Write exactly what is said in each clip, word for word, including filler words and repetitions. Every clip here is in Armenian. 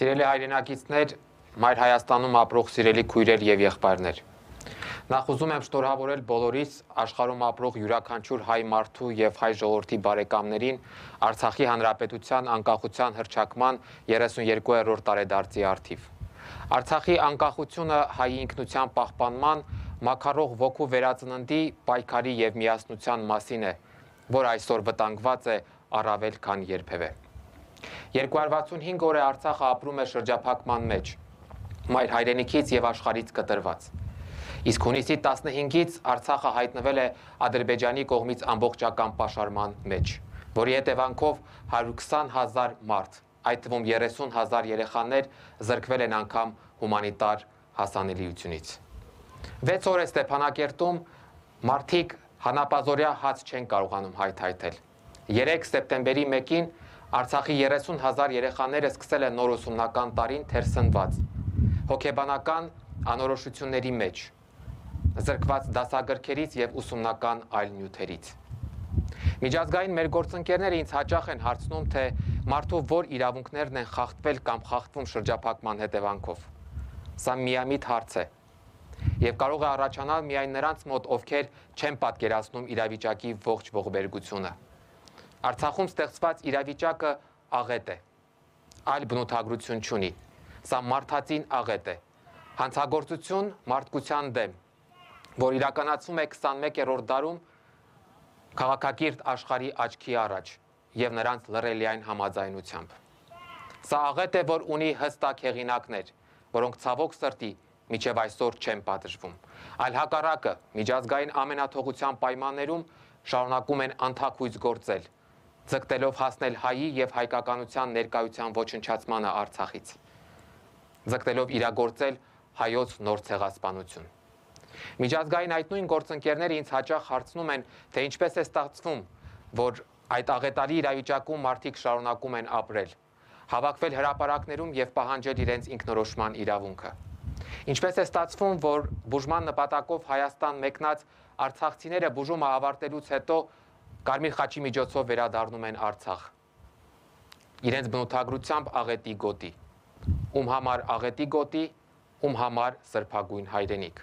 Սիրելի հայրենակիցներ, Մայր Հայաստանում ապրող սիրելի քույրեր եւ եղբայրներ։ Նախ ուզում եմ շնորհավորել բոլորիս աշխարհում ապրող յուրաքանչյուր հայ մարդու եւ հայ ժողովրդի բարեկամներին Արցախի Հանրապետության անկախության հռչակման երեսունյոթերորդ տարեդարձի առթիվ։ Արցախի անկախությունը հայի ինքնության պահպանման, մաքարող ոգու վերածննդի, պայքարի եւ միասնության մասին է, որ այսօր վտանգված է առավել քան երբևէ։ երկու հարյուր վաթսունհինգ օր է Արցախը ապրում է շրջափակման մեջ, մայր հայրենիքից եւ աշխարհից կտրված։ Իսկ հունիսի տասնհինգից Արցախը հայտնվել է Ադրբեջանի կողմից ամբողջական պաշարման մեջ, որի հետևանքով հարյուր քսան հազար մարդ, այդ թվում երեսուն հազար երեխաներ զրկվել են անգամ հումանիտար հասանելիությունից։ վեց օր է Ստեփանակերտում մարդիկ հանապազօրյա հաց չեն կարողանում հայթայթել։ երեք սեպտեմբերի մեկին Արցախի երեսուն հազար երեխաները սկսել են նոր ուսումնական տարին թերսնված, հոգեբանական անորոշությունների մեջ, զրկված դասագրքերից եւ ուսումնական այլ նյութերից։ Միջազգային մեր գործընկերները ինձ հաճախ են հարցնում, թե մարդու որ իրավունքներն են խախտվել կամ խախտվում շրջափակման հետևանքով։ Սա միամիտ հարց է եւ կարող է առաջանալ միայն նրանց մոտ, ովքեր չեն պատկերացնում իրավիճակի ողջ ողբերգությունը։ Արցախում ստեղծված իրավիճակը աղետ է, այլ բնութագրություն չունի։ Սա մարդածին աղետ է, հանցագործություն մարդկության դեմ, որ իրականացվում է քսանմեկերորդ դարում քաղաքակիրթ աշխարհի աչքի առաջ եւ նրանց լռելիային համաձայնությամբ։ Սա աղետ է, որ ունի հստակ հեղինակներ, որոնք ցավոք սրտի մինչև այսօր չեն պատժվում, այլ հակառակը միջազգային ամենաթողության պայմաններում շարունակում են անթաքույց գործել, ձգտելով հասնել հայի եւ հայկականության ներկայության ոչնչացմանը Արցախից, ձգտելով իրագործել հայոց նոր ցեղասպանություն։ Միջազգային այդ նույն գործընկերները ինձ հաճախ հարցնում են, թե ինչպես է ստացվում, որ այդ աղետալի իրավիճակում մարդիկ շարունակում են ապրել, հավաքվել հրապարակներում եւ պահանջել իրենց ինքնորոշման իրավունքը։ Ինչպես է ստացվում, որ բուժման նպատակով Հայաստան մեկնած արցախցիները բուժումը ավարտելուց հետո Կարմիր խաչի միջոցով վերադառնում են Արցախ։ Իրենց բնութագրությամբ աղետի գոտի, ում համար աղետի գոտի, ում համար սրբագույն հայրենիք։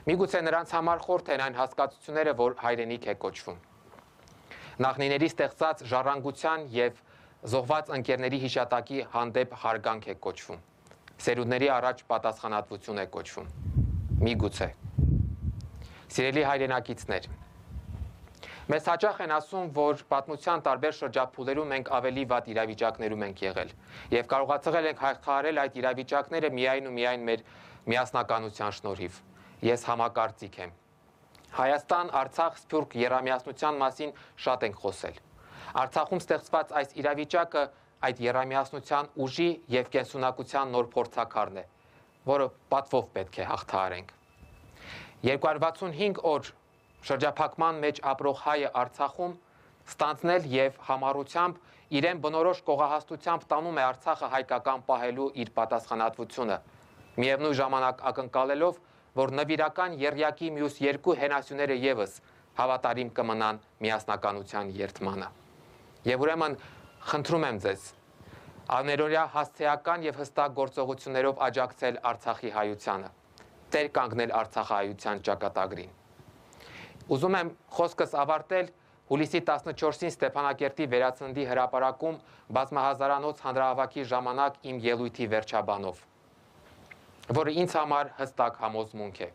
Միգուցե նրանց համար խորթ են այն հասկացությունները, որ հայրենիք է կոչվում։ Նախնիների ստեղծած ժառանգության եւ զոհված ընկերների հիշատակի հանդեպ հարգանք է կոչվում։ Սերունդների առաջ պատասխանատվություն է կոչվում։ Միգուցե։ Սիրելի հայրենակիցներ, մեզ հաճախ են ասում, որ պատմության տարբեր շրջափուլերում մենք ավելի վատ իրավիճակներում ենք եղել եւ կարողացել ենք հաղթահարել այդ իրավիճակները միայն ու միայն մեր միասնականության շնորհիվ։ Ես համակարծիք եմ։ Հայաստան, Արցախ, Սփյուռք եռամիասնության մասին շատ ենք խոսել։ Արցախում ստեղծված այս իրավիճակը այդ եռամիասնության ուժի եւ կենսունակության նոր փորձաքարն է, որը պատվով պետք է հաղթահարենք։ երկու հարյուր վաթսունհինգ օր շրջափակման մեջ ապրող հայը Արցախում ստանձնել եւ համառությամբ իրեն բնորոշ կողահաստությամբ տանում է Արցախը հայկական պահելու իր պատասխանատվությունը, միևնույն ժամանակ ակնկալելով, որ նվիրական եռյակի մյուս երկու հենասյուները եւս հավատարիմ կմնան միասնականության երթմանը։ Եվ ուրեմն խնդրում եմ ձեզ աներորյա հասցեական եւ հստակ գործողություններով աջակցել Արցախի հայությանը, տեր կանգնել Արցախահայության ճակատագրին։ Ուզում եմ խոսքս ավարտել հուլիսի տասնչորսին Ստեփանակերտի վերածննդի հրապարակում բազմահազարանոց հանրահավաքի ժամանակ իմ ելույթի վերջաբանով, որը ինձ համար հստակ համոզմունք է։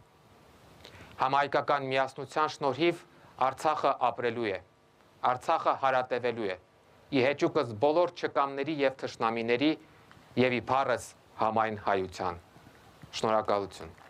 Համահայկական միասնության շնորհիվ Արցախը ապրելու է, Արցախը հարատևելու է, ի հեճուկս բոլոր չկամների եւ թշնամիների եւ իբարս համայն հայության։ Շնորհակալություն։